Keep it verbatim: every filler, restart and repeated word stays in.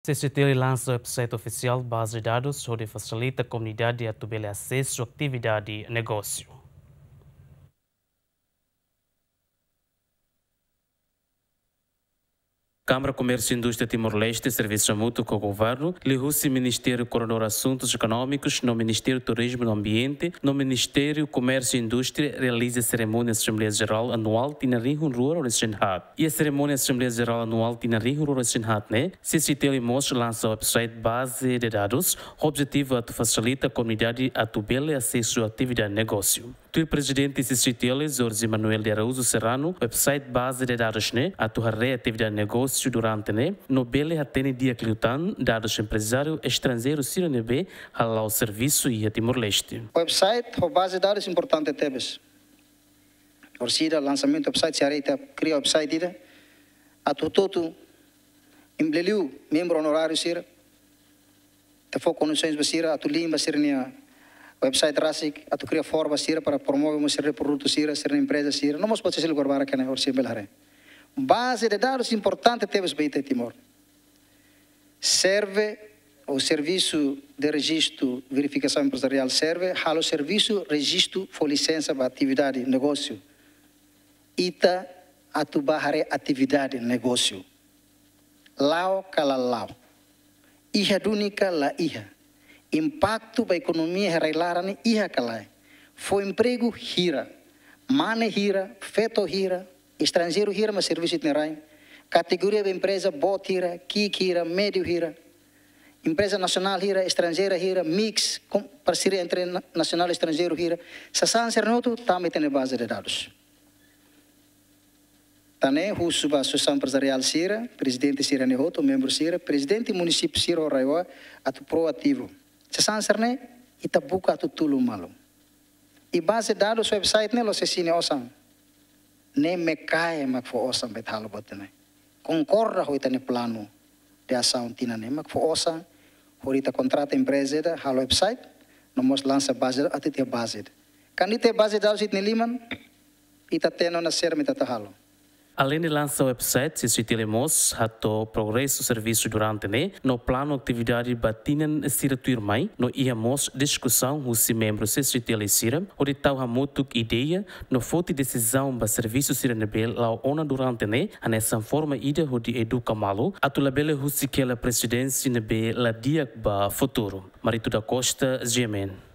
C C T L lansa website ofisiál baze dadus hodi fasilita komunidade atu bele asesu atividade negósiu. Kámara Komérsiu Indústria Timor-Leste servisu hamutuk ho governu, liuhusi Ministériu Koordenadór Asuntus Ekonómikus no Ministériu Turizmu no Ambiente no Ministériu Komérsiu Indústria realiza serimónia Asembleia Jerál Anuál tinan rihun rua ruanulu-resin-haat. Iha serimónia Asembleia Jerál Anuál tinan rihun rua ruanulu-resin-haat ne'e, C C T L mós lansa website baze de dadus, ho objetivu atu fasilita komunidade atu bele asesu atividade negósiu. Tuir Prezidente C C T L, Jorge Manuel de Araújo Serrano, website baze de dadus ne'e atu haree atividade negósiu durante ne'e, no bele hatene di'ak liután dadus emprezáriu estranjeiru sira ne'ebé hala'o servisu iha Timor-Leste. Website ho baze dadus importante tebes. Orsida lansamentu website, se haree ita kria website ida, atu hotu-hotu, liuliu membru onoráriu sira, ita fó kondisoens ba sira, atu limpar sira-nia website rasik, atu kria forma sira para promove mós sira produtu sira, sira empreza sira, no mós potensiál agora ke ne'e orsida bele haree. Baze de dadus importante tebes ba ita Timor. Serve, o servisu de rejistu verifikasaun empresariál serve, halo servisu rejistu fó lisensa ba atividade negósiu. Ita atu bá haree atividade negósiu. La'o ka la la'o. Iha duni ka la iha. Impaktu ba ekonomia iha rai-laran ne'e iha ka lae. Fó empregu hira. Mane hira, feto hira, estranjeiru hira mak servisu iha ita-nia rai. Kategoria ba empreza boot hira, ki'ik hira, médiu hira. Empreza nasionál hira, estranjeira hira, mix, kom-, parseria entre na-, nasionál estranjeiru hira. Sasán sira-ne'e hotu tama iha ita-nia baze de dadus. Tan ne'e husu ba asosiasaun empresariál sira, prezidente sira-ne'e hotu, membru sira, prezidente munisípiu sira ho RAEOA atu proativu. Sasán sira-ne'e ita buka atu tulun malu. I baze dadus website ne'e la'ós sira-nia osan. Ne'e MECAE mak fó osan ba ita halo buat ne'e. Konkorda ho ita-nia planu de asaun tinan ne'e mak fó osan hodi ita kontrata empreza ida halo website, no mós lansa baze atu ita iha baze. Kuandu ita iha baze dadus iha ita-nia liman, ita hatene ona saida mak ita atu halo. Aleinde lansa website, C C T L mós hato'o progresu servisu durante ne'e, no planu atividade ba tinan sira tuirmai, no iha mós diskusaun husi membru C C T L sira, hodi tau hamutuk ideia, no foti desizaun ba servisu sira ne'ebé la'o ona durante ne'e, hanesan forma ida hodi eduka malu, atu labele husik hela presidensi ne'ebé la di'ak ba futuru. Marito da Costa, G M N.